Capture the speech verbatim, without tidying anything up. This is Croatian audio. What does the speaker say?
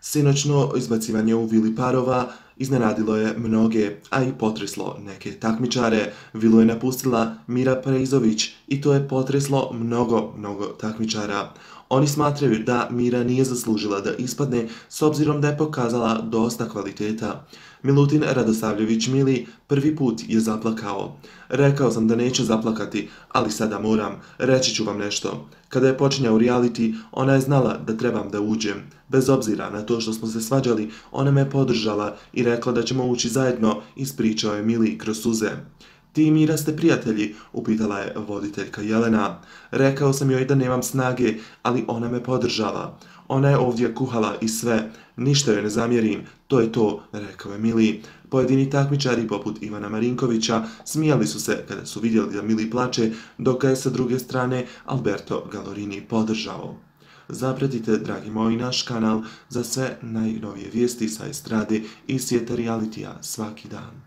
Sinoćno izbacivanje u vili parova iznenadilo je mnoge, a i potreslo neke takmičare. Vilu je napustila Mira Preizović i to je potreslo mnogo, mnogo takmičara. Oni smatraju da Mira nije zaslužila da ispadne s obzirom da je pokazala dosta kvaliteta. Milutin Radosavljević Mili prvi put je zaplakao. Rekao sam da neću zaplakati, ali sada moram. Reći ću vam nešto. Kada je počinjao reality, ona je znala da trebam da uđem. Bez obzira na to što smo se svađali, ona me podržala i rekla da ćemo ući zajedno, ispričao je Mili kroz suze. Ti i Mira ste prijatelji, upitala je voditeljka Jelena. Rekao sam joj da nemam snage, ali ona me podržala. Ona je ovdje kuhala i sve, ništa joj ne zamjerim, to je to, rekao je Mili. Pojedini takmičari poput Ivana Marinkovića smijali su se kada su vidjeli da Mili plače, dok ga je sa druge strane Alberto Galorini podržao. Zapratite, dragi moji, naš kanal za sve najnovije vijesti sa estrade i svijeta realitija svaki dan.